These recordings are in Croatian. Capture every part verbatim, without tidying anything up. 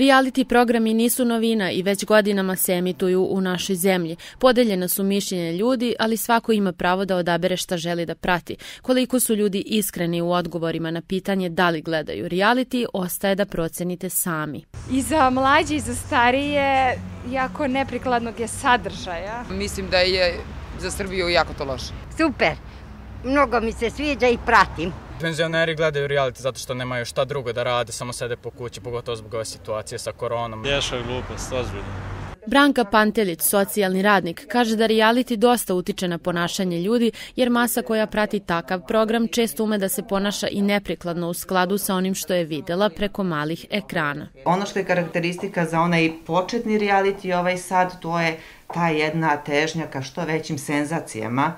Reality programi nisu novina i već godinama se emituju u našoj zemlji. Podeljena su mišljenja ljudi, ali svako ima pravo da odabere šta želi da prati. Koliko su ljudi iskreni u odgovorima na pitanje da li gledaju reality, ostaje da procenite sami. I za mlađe i za starije jako neprikladnog je sadržaja. Mislim da je za Srbiju jako to loše. Super, mnogo mi se sviđa i pratim. Penzioneri gledaju reality zato što nemaju šta drugo da rade, samo sede po kući, pogotovo zbog ove situacije sa koronom. Ješa je glupost, ozbiljno. Branka Pantelić, socijalni radnik, kaže da reality dosta utiče na ponašanje ljudi, jer masa koja prati takav program često ume da se ponaša i neprikladno u skladu sa onim što je videla preko malih ekrana. Ono što je karakteristika za onaj početni reality ovaj sad, to je ta jedna težnja ka što većim senzacijama,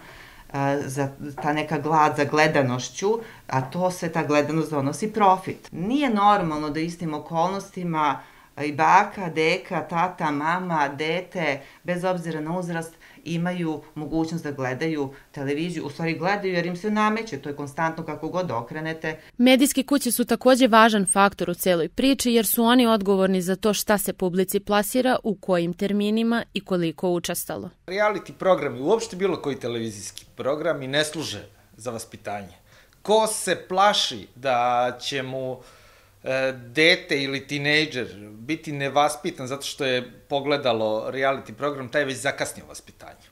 za ta neka glad za gledanošću, a to sve ta gledanost donosi profit. Nije normalno da istim okolnostima i baka, deka, tata, mama, dete, bez obzira na uzrast, imaju mogućnost da gledaju televiziju. U stvari gledaju jer im se nameće, to je konstantno kako god okrenete. Medijske kuće su također važan faktor u celoj priči jer su oni odgovorni za to šta se publici plasira, u kojim terminima i koliko učestalo. Reality programi, uopšte bilo koji televizijski programi, ne služe za vaspitanje. Ko se plaši da će mu dete ili tinejdžer biti nevaspitan zato što je pogledalo reality program, taj je već zakasnio vaspitanju.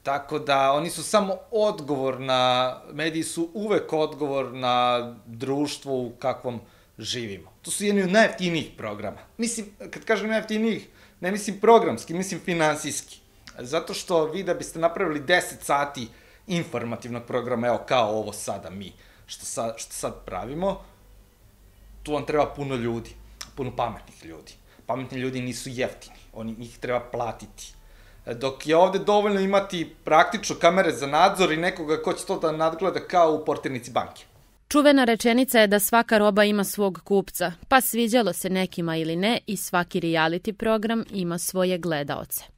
Tako da oni su samo odgovor na, mediji su uvek odgovor na društvo u kakvom živimo. To su jedni od najjeftinijih programa. Mislim, kad kažem najjeftinijih, ne mislim programski, mislim finansijski. Zato što vi da biste napravili deset sati informativnog programa, evo kao ovo sada mi, što sad, što sad pravimo, tu vam treba puno ljudi, puno pametnih ljudi. Pametni ljudi nisu jeftini, oni njih treba platiti. Dok je ovde dovoljno imati praktično kamere za nadzor i nekoga ko će to da nadgleda kao u portirnici banke. Čuvena rečenica je da svaka roba ima svog kupca, pa sviđalo se nekima ili ne i svaki reality program ima svoje gledaoce.